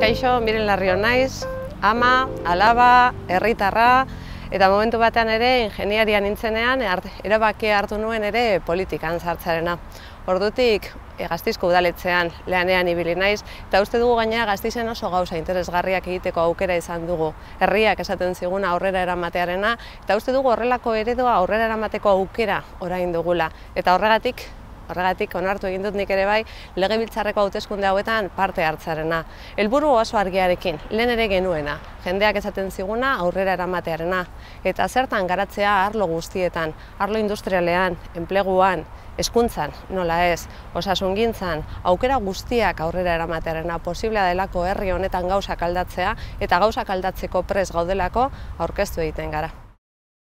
Kaixo, Miren Larrio naiz, ama, alaba, herritarra, eta momentu batean ere ingeniaria nintzenean erabakia hartu nuen ere politikan sartzearena. Ordutik Gasteizko udaletxean lanean ibili naiz, eta uste dugu gainera Gasteizen oso gauza interesgarriak egiteko aukera izan dugu. Herriak esaten ziguna aurrera eramatearena, eta uste dugu horrelako eredua aurrera eramateko aukera orain dugula. Eta horregatik onartu egin dut nik ere bai legebiltzarreko hauteskunde hauetan parte hartzearena. Helburu oso argiarekin, lehen ere genuena, jendeak esaten ziguna aurrera eramatearena. Eta zertan garatzea arlo guztietan, arlo industrialean, enpleguan, hezkuntzan, nola ez, osasungintzan, aukera guztiak aurrera eramatearena posiblea delako herri honetan gauzak aldatzea, eta gauzak aldatzeko prest gaudelako aurkeztu egiten gara.